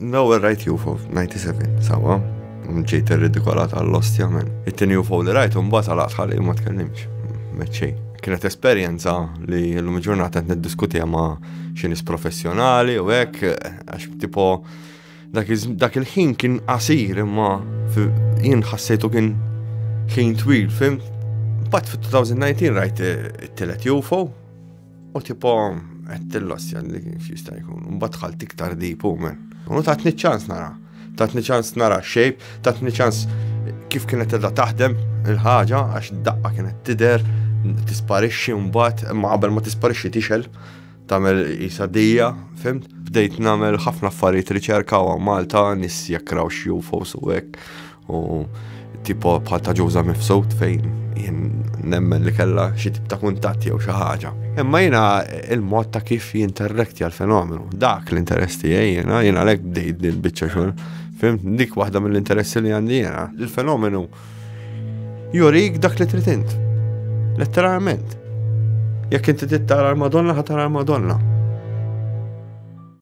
L-ewwel rajt UFO 97, sawa, ġejt irridikolat għall-ostja men. It-tieni UFO li rajt mbagħad għalaqt ħalli ma tkellimx. Meċċej. Kienet esperjenza li llum il-ġurnata qed niddiskutiha ma' xi nies professjonali u hekk għax tipo dak il-ħin kien qasir imma jien ħassejtu kien ħin twil, fim? Mbagħad fit-2019 rajt it-tielet UFO U tipo, qed tillossja li kif jista' jkun. Mbagħad dħalt iktar deep u men. U tatni ċans nara. Tatni ċans nara shape, tatni ċans kif kienet edha taħdem il-ħaġa għax daqqa kienet tidher, tisparixxi mbagħad, imma qabel ma tisparixxi tixel tagħmel isa dija, fimt? Bdejt nagħmel ħafna affarijiet riċerka u Malta nies jekraw xi UFOs u hekk. U tipo bħal ta' ġuża mifsud fejn jien nemmen li kella xi tip ta' kuntatt jew xi ħaġa. Imma jiena il-mod ta' kif jinterrekti għal-fenomenu, dak l-interess tiegħi jiena, jiena għalhekk bdejt din biċċa xogħol. Fim, dik waħda mill-interessi li għandi jiena. Il-fenomenu jurik dak li trid int. Letteralment. Jekk inti trid tara l-Madonna, ħa tara l-Madonna.